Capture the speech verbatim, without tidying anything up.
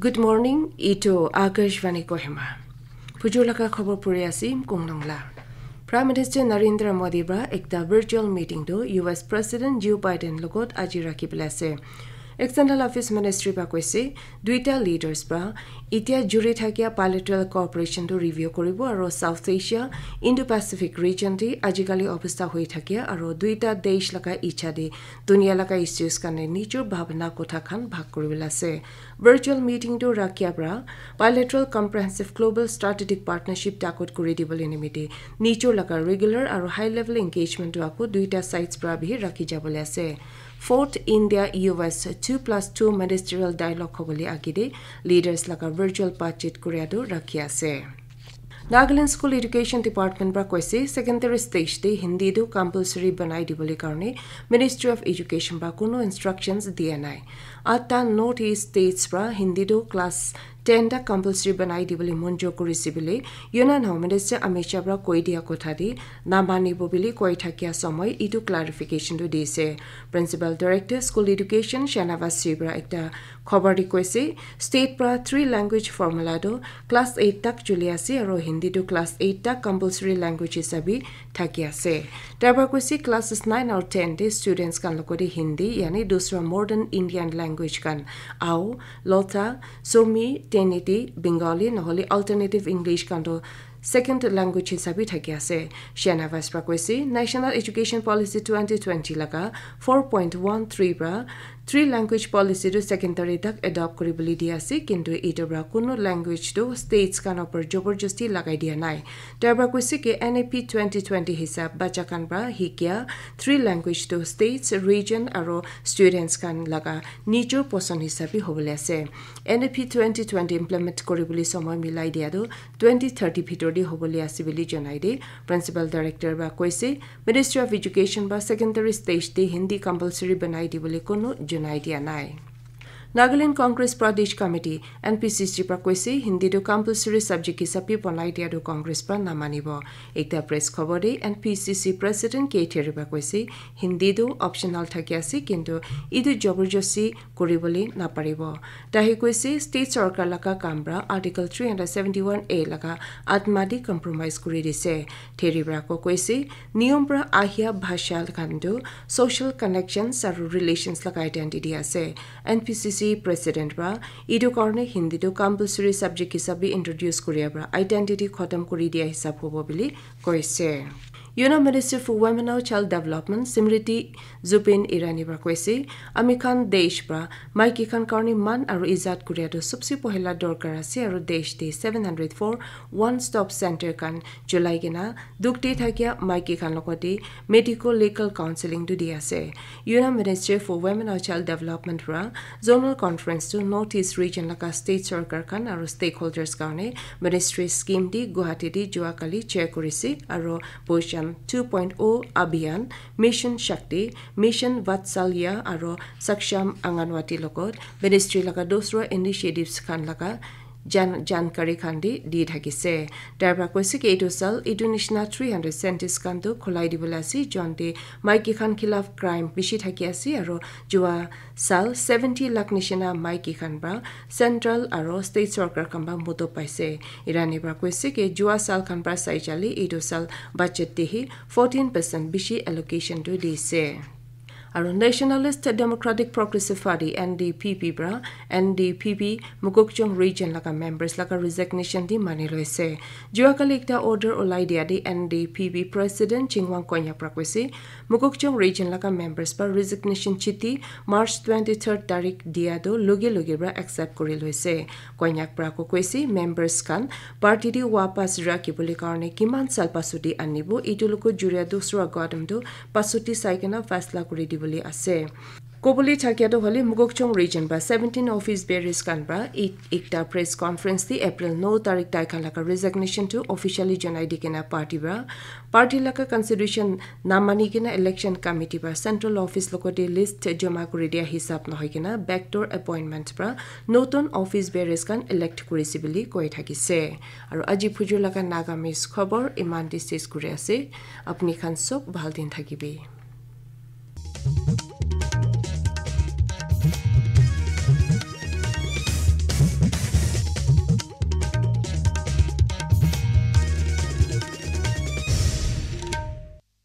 Good morning, itu Akashvani Kohima. Phujur laga khobor puri ase, Kong Nongla. Prime Minister Narendra Modi pra ekta virtual meeting tu U S President Joe Biden logot aji rakhi bole ase. External Affairs Ministry pra koise, duita leaders pra itia juri thakia bilateral cooperation tu review koribo aro South Asia, Indo-Pacific region te ajikali obostha hoi thakia aro duita desh laga icha te dunia laga issues karne nijor bhabna kotha khan bhag kori bole ase. Virtual meeting tu rakhia pra bilateral comprehensive global strategic partnership takot kori dibole nimite nijor laga regular aro high level engagement tu ako duita sides pra bhi rakhi jabole ase. Fourth India U S two plus two ministerial dialogue hobole agede leaders laga virtual budget korea tu rakhi ase. Nagaland School Education Department pra koise secondary stage te Hindi tu compulsory banai dibole karne Ministry of Education pra kono instructions dia nai. Atta North East states pra Hindi tu class ten ta compulsory banai dibole monjur korise bole Union Home Minister Amit Shah pra koi dia kotha te namanibo bole koi thakia somoy itu clarification tu dise. Principal Director School Education Shahnawaz Singh pra ekta khobor te koise, state pra three language formula tu class eight tak chuli ase aro Hindi tu class eight tak compulsory language hisabe thaki ase. Tar pra koise classes nine aru ten te students khan logote Hindi yani dusra modern Indian language khan Ao, Lotha, Somi, Teneti, Bengali nohole alternative English khan tu second language hisabe thaki ase. Shahnawaz pra koise, National Education Policy twenty twenty laga four point one three pra three language policy tu secondary tak adopt kori bole di ase, kintu itu pra kono language tu states khan upor joborjosti lagai dia nai. Tar pra koise ki N E P twenty twenty hisab bacha khan pra hikia three language tu states, region aro students khan laga nijor poson hisabe hobole ase. N E P twenty twenty implement kori bole somoy milai dia tu twenty thirty bhitor te hobole ase bole janai de. Principal Director pra koise, Ministry of Education pra secondary stage te Hindi compulsory banai dibole kono janai dia nai. Nagaland Congress Pradesh Committee, N P C C pra koise, Hindi tu compulsory subject hisabe banai dia tu Congress pra namanibo. Ekta press khobor te N P C C President K Theri pra koise, Hindi tu optional thaki ase, kintu itu joborjosti kori bole naparibo. Tahe koise, state sorkar laga kam pra Article three hundred seventy-one A laga atma te compromise kori dise. Theri pra ko koise, niyom pra ahia bhasha khan tu social connections aru relations laga identity ase. N P C C President pra itu karne Hindi tu compulsory subject hisabe introduce koria pra identity khotom kori dia hisab hobo bole koise. Union Minister for Women and Child Development Smriti Zubeen Irani pra koise, ami khan desh pra maiki khan karne man aru izat koria tu sobse pohila dorkar ase aru desh te seven hundred four one stop center khan cholai kena dukh te thakia maiki khan logote medical legal counseling tu di ase. Union Ministry for Women and Child Development pra Zonal Conference tu North East Region laga state sorkar khan aru stakeholders karne ministry scheme di Guwahati di jua kali chair korise aru Poshan two point oh Abhiyan, Mission Shakti, Mission Vatsalya aru Saksham Anganwadi logot ministry laga dusra initiatives khan laga jan jankari khan di di thakise. Tar pra koise ki etu sal etu nishina three hundred centres khan tu khulai dibole ase, jon te maiki khan khilaf crime bishi thaki ase aru jua sal seventy lakh nishina maiki khan pra central aru state sorkar khan pra moto paise. Irani pra koise ki jua sal khan pra sai jale etu sal budget te hi fourteen percent bishi allocation tu dise. Aru Nationalist Democratic Progressive Party, N D P P pra N D P P Mokokchung Region laga members laga resignation di mani loise. Jua kali ekta order ulai dia di N D P P President Chingwang Konyak pra koise, Mokokchung Region laga members pra resignation chithi March twenty-third tarik dia tu loge loge pra accept kori loise. Konyak pra ko koise members khan party te wapas rakhi bole karne kiman sal pasuti anibo, etu logot juria dusra kadam tu pasuti sai kena faisla kuri dibole ase. Kobole thakia tu hoile Mokokchung Region pra seventeen office bearers khan pra ek ekta press conference te April no tarik tai khan laga resignation tu officially janai di kena party pra party laga constitution namani kena election committee pra central office logote list joma kuri dia hisab nohoi kena backdoor appointment pra notun office bearers khan elect kurise bole koi thakise. Aru aji phujur laga Nagamese khobor iman te ses kuri ase. Apni khan sob bhal din thakibi.